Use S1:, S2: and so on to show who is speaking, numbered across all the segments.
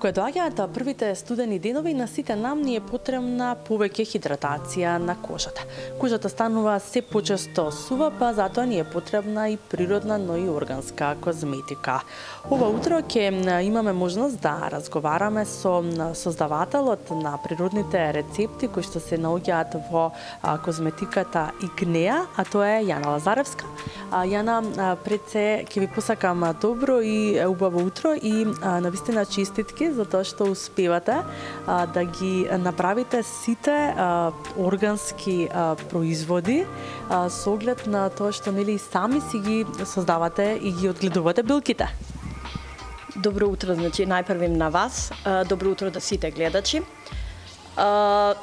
S1: Кога доаѓаат првите студени денови, на сите нам ни е потребна повеќе хидратација на кожата. Кожата станува се почесто сува, па затоа ни е потребна и природна, но и органска козметика. Ова утро ќе имаме можност да разговараме со создавателот на природните рецепти кои што се наоѓаат во козметиката Игнеа, а тоа е Јана Лазаревска. Јана, пред се ќе ви посакам добро и убаво утро и навистина честитки за тоа што успевате да ги направите сите органски производи со оглед на тоа што нели сами си ги создавате и ги одгледувате билките.
S2: Добро утро, значи најпрвим на вас. Добро утро да сите гледачи.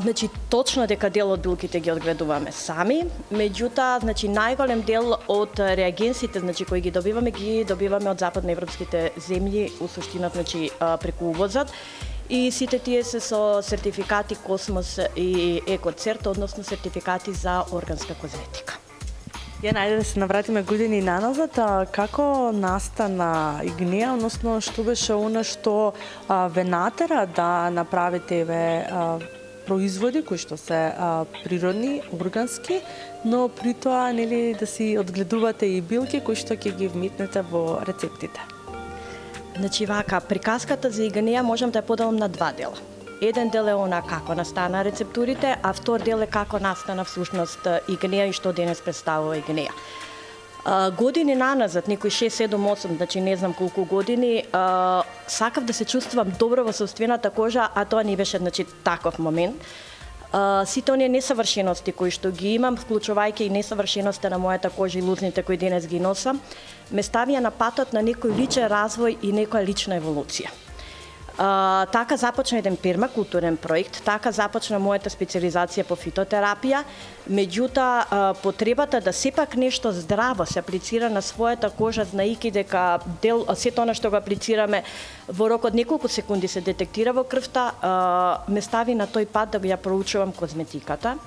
S2: Значи точно дека дел од билките ги одгледуваме сами, меѓутоа значи најголем дел од реагенсите значи кои ги добиваме од западноевропските земји, у суштина значи преку увозот. И сите тие се со сертификати Космос и Екоцерт, односно сертификати за органска козметика.
S1: Најде да се навратиме години наназад, како настана Игнеа, односно што беше она што ве натера да направите производи кои што се природни, органски, но при тоа нели да си одгледувате и билки кои што ќе ги вметнете во рецептите.
S2: Значи вака, приказката за Игнеа можам да ја поделам на два дела. Еден дел е она како настана рецептурите, а втор дел е како настана всушност Игнеа и што денес представува Игнеа. Години наназад, некои 6, 7, 8, значи не знам колку години, сакав да се чувствувам добро во собствената кожа, а тоа не беше значи таков момент. Сите оние несавршености кои што ги имам, вклучувајќи и несавршеноста на мојата кожа и лузните кои денес ги носам, ме ставија на патот на некој личен развој и некоја лична еволуција. Така започна еден пермакултурен проект, така започна мојата специализација по фитотерапија, меѓутоа потребата да сепак нешто здраво се аплицира на својата кожа, знаејќи дека сето она што го аплицираме во рок од неколку секунди се детектира во крвта, ме стави на тој пат да ја проучувам козметиката.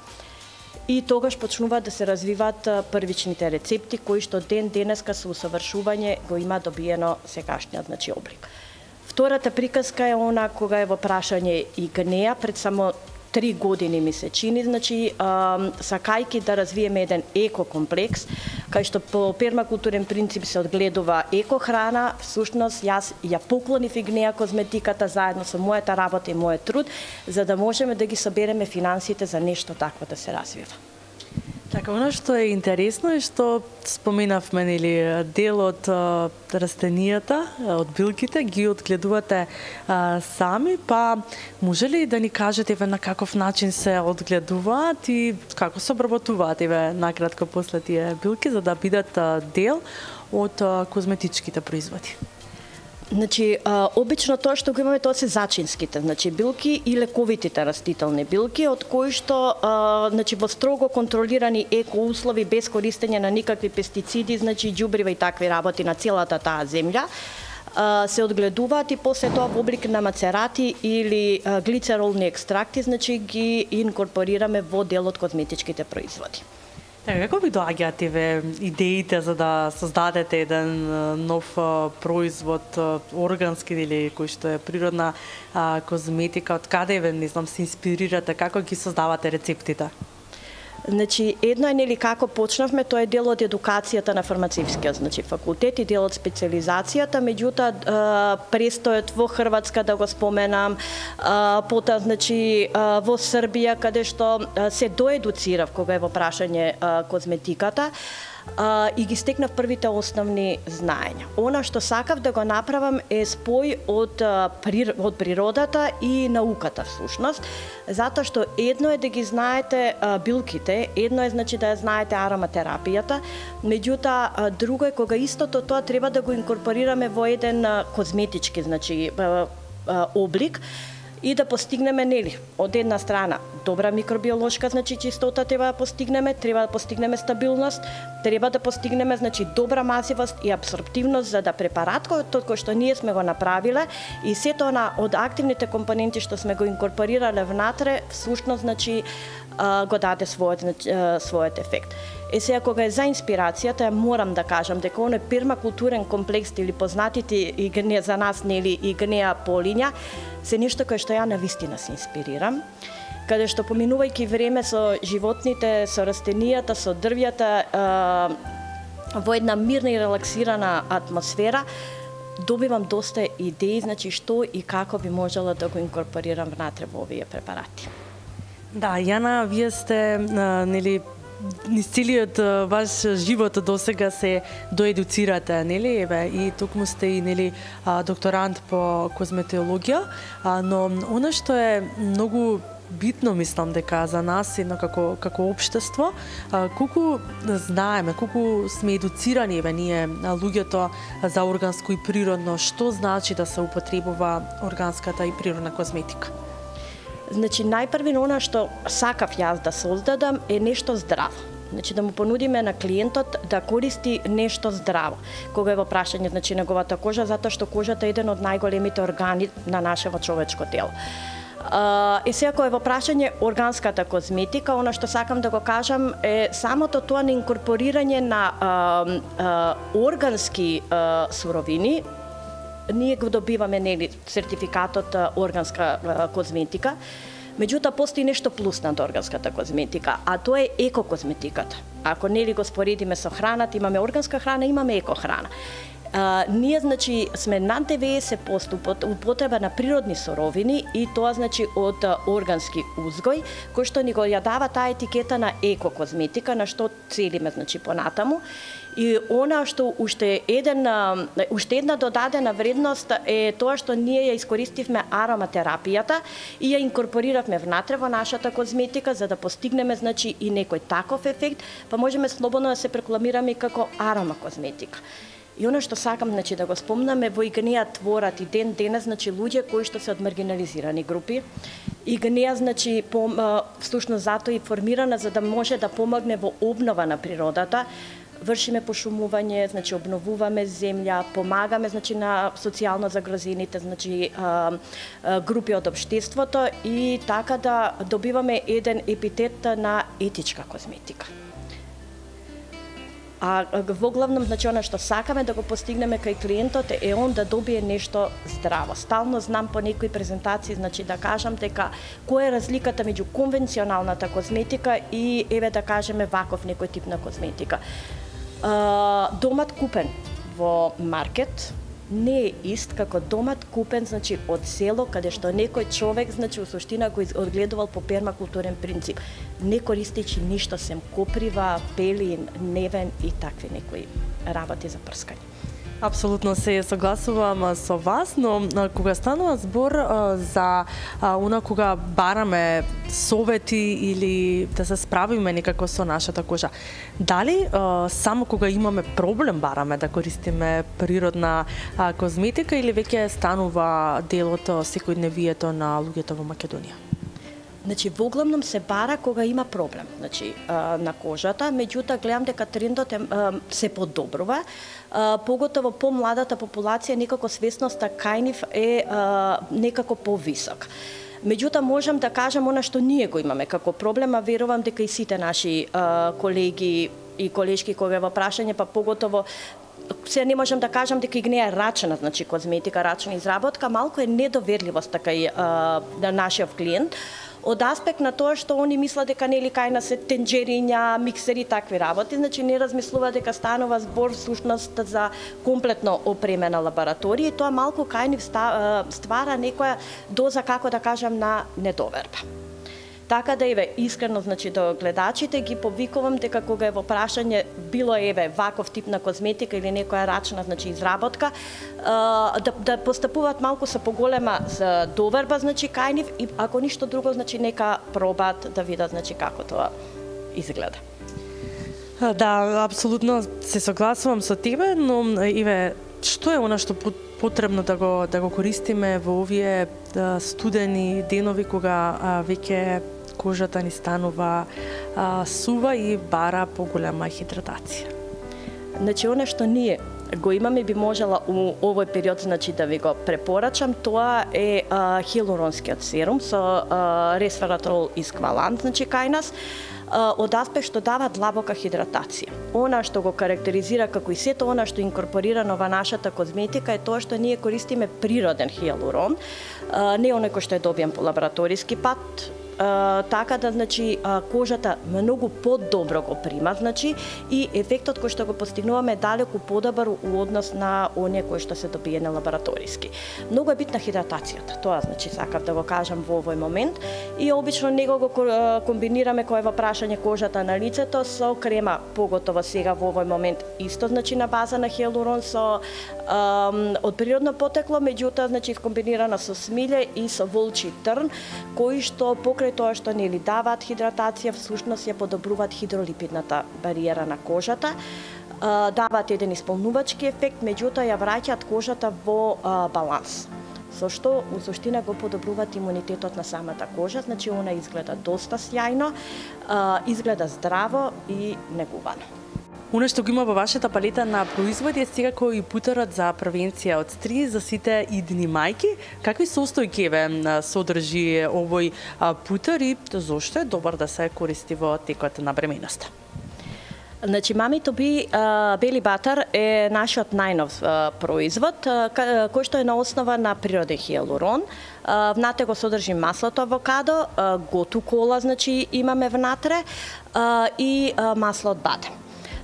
S2: И тогаш почнуваат да се развиваат првичните рецепти кои што ден денеска со усавршување го има добиено секашниот значи облик. Втората приказка е она кога е во прашање Игнеа, пред само 3 години ми се чини, значи сакајки да развиеме еден екокомплекс, кај што по пермакултурен принцип се одгледува екохрана, всушност јас ја поклонив Игнеа козметиката заедно со мојата работа и мојот труд, за да можеме да ги собереме финансите за нешто такво да се развива.
S1: Така, оно што е интересно е што споменавме нели дел од растенијата, од билките ги одгледувате сами, па може ли да ни кажете на каков начин се одгледуваат и како се обработуваат накратко после тие билки за да бидат дел од козметичките производи?
S2: Значи, обично тоа што го имаме тоа се зачинските, значи билки и лековитите растителни билки, од кои што значи во строго контролирани екоуслови без користење на никакви пестициди, значи ѓубрива и такви работи на целата таа земја, се одгледуваат и после тоа во облик на мацерати или глицеролни екстракти, значи ги инкорпорираме во дел од козметичките производи.
S1: Како ви доаѓаат идеите за да создадете еден нов производ органски или кој што е природна козметика, од каде не знам се инспирирате, како ги создавате рецептите?
S2: Значи, едно е нели како почнавме, тоа е дел од едукацијата на фармацевскиот значи факултет и дел од специализацијата, меѓутоа престојот во Хрватска да го споменам, потоа значи во Србија каде што се доедуцирав кога е во прашање козметиката, и ги стекнав првите основни знаења. Она што сакав да го направам е спој од природата и науката всушност, затоа што едно е да ги знаете билките, едно е значи да ја знаете ароматерапијата, меѓутоа друго е кога истото тоа треба да го инкорпорираме во еден козметички значи облик и да постигнеме нели од една страна добра микробиолошка, значи чистота треба да постигнеме, треба да постигнеме стабилност, треба да постигнеме значи добра мазивост и абсорптивност за да препаратот кој што ние сме го направиле и сето од активните компоненти што сме го инкорпорирале внатре, всушност значи го даде својот ефект. Сега кога е за инспирацијата, морам да кажам дека оној пермакултурен комплекс или познатите и гнеа за нас нели и гнеа полиња се нешто кое што ја навистина се инспирирам, каде што поминувајќи време со животните, со растенијата, со дрвјата, во една мирна и релаксирана атмосфера, добивам доста идеи, значи што и како би можела да го инкорпорирам внатре во овие препарати.
S1: Да, Јана, вие сте нели низ целиот ваш живот досега се доедуцирате, нели? Еве, и токму сте и нели докторант по козметологија, но она што е многу битно, мислам дека за нас едно како општество, колку знаеме, колку сме едуцирани еве ние луѓето за органско и природно, што значи да се употребува органската и природна козметика?
S2: Значи, најпрви она што сакав јас да создадам е нешто здраво. Значи, да му понудиме на клиентот да користи нешто здраво. Кога е во прашање, значи, неговата кожа, затоа што кожата е еден од најголемите органи на нашето човечко тело. И сега кога е во прашање органската козметика, она што сакам да го кажам е самото тоа на инкорпорирање на органски суровини. Ние го добиваме нели сертификатот органска козметика, меѓутоа постои нешто плюс над органската козметика, а тоа е екокозметиката. Ако нели го споредиме со храната, имаме органска храна, имаме екохрана. Ние значи сме над 90% употреба на природни суровини и тоа значи од органски узгој, кој што ни го ја дава таа етикета на екокозметика, на што целиме значи понатаму. И она што уште една додадена вредност е тоа што ние ја искористивме ароматерапијата и ја инкорпориравме внатре во нашата козметика за да постигнеме значи и некој таков ефект, па можеме слободно да се рекламираме како арома козметика. И оно што сакам значи да го спомнаме, во ИГНЕА творат и ден денес значи луѓе кои што се од маргинализирани групи. ИГНЕА значи всушност затоа и формирана за да може да помогне во обнова на природата. Вршиме пошумување, значи обновуваме земја, помагаме значи на социјално загрозените значи групи од општеството и така да добиваме еден епитет на етичка козметика. А во главном, значи, она што сакаме да го постигнеме кај клиентот е он да добие нешто здраво. Стално знам по некои презентации, значи да кажам дека која е разликата меѓу конвенционалната козметика и еве да кажеме ваков некој тип на козметика. Домат купен во маркет не е ист како домат купен значи од село каде што некој човек значи во суштина го одгледувал по пермакултурен принцип, не користејќи ништо сем коприва, пелин, невен и такви некои работи за прскање.
S1: Апсолутно се согласувам со вас, но кога станува збор за она кога бараме совети или да се справиме некако со нашата кожа, дали само кога имаме проблем бараме да користиме природна козметика или веќе станува дел од секојдневието на луѓето во Македонија?
S2: Значи, во главном се бара кога има проблем, значи, на кожата, меѓутоа гледам дека трендот се подобрува, поготово по младата популација некако свесноста кај нив е некако повисок. Меѓутоа можам да кажам она што ние го имаме како проблема, верувам дека и сите наши колеги и колешки кога е во прашање, па поготово се не можам да кажам дека ИГНЕА рачна, значи козметика, рачна изработка, малку е недоверливост кај нашиот клиент, од аспект на тоа што они мислат дека нели кај нас се тенџериња, миксери, такви работи, значи не размислува дека станува збор всушност за комплетно опремена лабораторија и тоа малку кај нив ствара некоја доза, како да кажам, на недоверба. Така да еве искрено значи до гледачите ги повикувам дека кога е во прашање било еве ваков тип на козметика или некоја рачна значи изработка да постапуваат малку со поголема доверба значи кај нив и ако ништо друго значи нека пробаат да видат значи како тоа изгледа.
S1: Да, апсолутно се согласувам со тебе, но еве што е она што потребно да го користиме во овие студени денови кога веќе кожата ни станува сува и бара поголема хидратација.
S2: Значи, она што ние го имаме, би можела у овој период, значи, да ви го препорачам, тоа е хиалуронскиот серум со ресвератрол исквалант, значи, кај нас, од аспект што дава длабока хидратација. Она што го карактеризира како и сето она што е инкорпорирано во нашата козметика е тоа што ние користиме природен хиалурон, не оној кој што е добиен по лабораториски пат, така да, значи, кожата многу подобро го прима, значи, и ефектот кој што го постигнуваме е далеку подобар у однос на оние кои што се добиени лабораториски. Многу е битна хидратацијата, тоа, значи, сакав да го кажам во овој момент, и обично него го комбинираме кој е во прашање кожата на лицето со крема, поготово сега во овој момент исто, значи, на база на хиалурон со од природно потекло, меѓутоа, значи, комбинирана со смиле и со волчи трн, кои што покрај тоа што нели даваат хидратација, всушност ја подобруваат хидролипидната бариера на кожата, даваат еден исполнувачки ефект, меѓутоа ја враќаат кожата во баланс, со што у суштина го подобруваат имунитетот на самата кожа, значи она изгледа доста сјајно, изгледа здраво и негувано.
S1: Оно што го има во вашата палета на производи е секако и путерот за превенција од стрес за сите идни мајки. Какви состојки содржи овој путер и зошто е добар да се користи во текот на бременоста?
S2: Значи, Mami to be Belly Butter е нашиот најнов производ, кој што е на основа на природен хиалурон. Внатре го содржи маслото авокадо, готу кола, значи имаме внатре, и масло од бадем.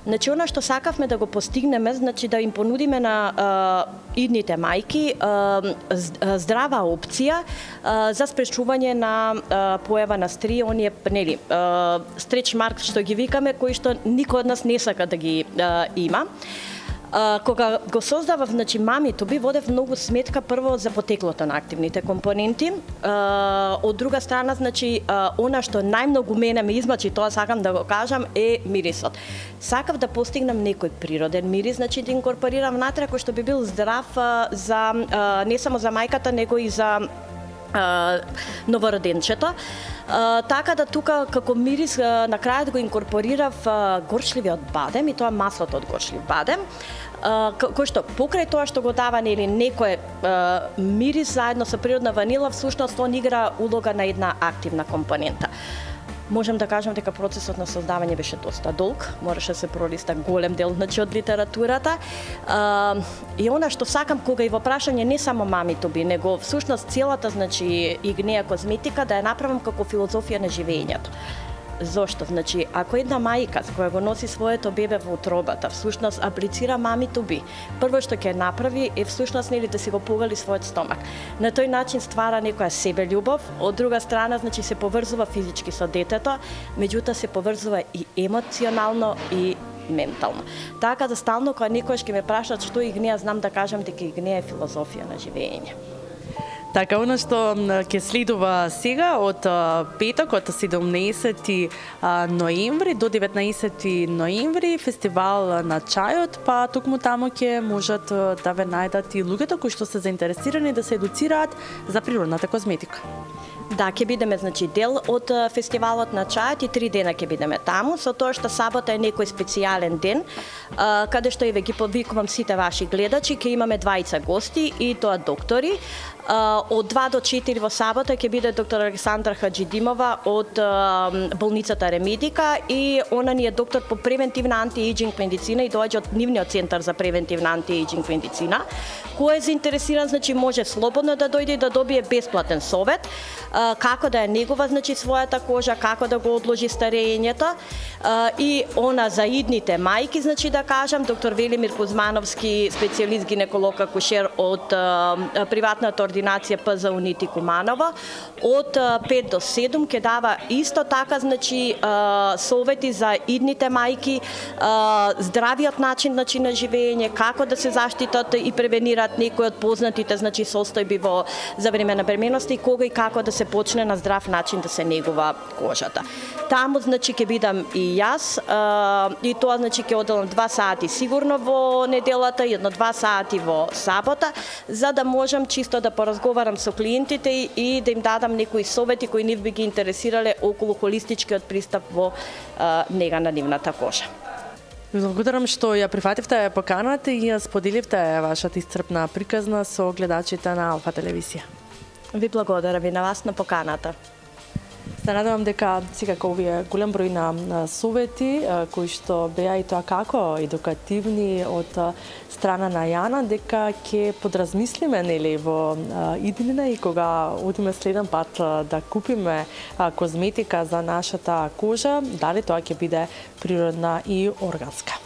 S2: Значи, она што сакавме да го постигнеме, значи да им понудиме на идните мајки здрава опција за спречување на појава на стрии, оние, нели, стреч марк што ги викаме, кои што никој од нас не сака да ги има. Кога го создавав, значи, Mami to be, водев многу сметка прво за потеклото на активните компоненти. Од друга страна, значи, она што најмногу мене ме измачи, тоа сакам да го кажам, е мирисот. Сакав да постигнам некој природен мирис, значи да инкорпорирам внатре кој што би бил здрав за не само за мајката, него и за новороденчето. Така да тука како мирис на крајот го инкорпорирав горчливиот бадем, и тоа маслото од горчлив бадем, кој што покрај тоа што го дава нели некој мирис заедно со природна ванила, всушност он игра улога на една активна компонента. Можам да кажам дека процесот на создавање беше доста долг, мораше се пролиста голем дел, значи, од литературата. И она што сакам кога и во прашање не само Mami to be, него всушност целата, значи, Игнеја козметика да ја направам како филозофија на живењето. Зошто? Значи, ако една мајка која го носи своето бебе во утробата, всушност аплицира Mami to be, прво што ќе направи е всушност нели да си го погали својот стомак. На тој начин ствара некоја себељубов, од друга страна, значи, се поврзува физички со детето, меѓутоа се поврзува и емоционално и ментално. Така да стално кога некојаш ќе ме прашаат што Игнеја, знам да кажам дека Игнеја е филозофија на живење.
S1: Така, оно што ќе следува сега од петок, од 17 ноември до 19 ноември, фестивал на чајот, па токму таму ќе можат да ве најдат и луѓето кои што се заинтересирани да се едуцираат за природната козметика.
S2: Да, ќе бидеме, значи, дел од фестивалот на чајот и 3 дена ќе бидеме таму, со тоа што сабота е некој специјален ден, каде што и ве ги повикувам сите ваши гледачи, ќе имаме двајца гости и тоа доктори. Од 2 до 4 во сабота ќе биде доктор Александра Хаджидимова од болницата Ремедика, и она ни е доктор по превентивна антиејџинг медицина и доаѓа од нивниот центар за превентивна антиејџинг медицина. Кој е заинтересиран, значи, може слободно да дојде и да добие бесплатен совет како да ја негува, значи, својата кожа, како да го одложи старењето, и она за идните мајки, значи, да кажам, доктор Велимир Кузмановски, специјалист гинеколог акушер од приватната ординација КП за Унити Куманово. Од 5 до 7 ќе дава исто така, значи, совети за идните мајки, здравиот начин на живење, како да се заштитат и превенираат некои од познатите, значи, состојби за време на бременоста и кога и како да се почне на здрав начин да се негува кожата. Таму, значи, ќе бидам и јас, и тоа, значи, ќе оделам 2 сати сигурно во неделата и 1-2 сати во сабота, за да можам чисто да поразговарам со клиентите и да им дадам некои совети кои нив би ги интересирале околу холистичкиот пристап во нега на нивната кожа.
S1: Благодарам што ја прифативте поканата и ја споделивте вашата исцрпна приказна со гледачите на Алфа телевизија.
S2: Ви благодарам и на вас на поканата.
S1: Се надевам дека секако овие голем број на совети кои што беа и тоа како едукативни од страна на Јана, дека ќе подразмислиме, нели, во иднина и кога одиме следен пат да купиме козметика за нашата кожа, дали тоа ќе биде природна и органска.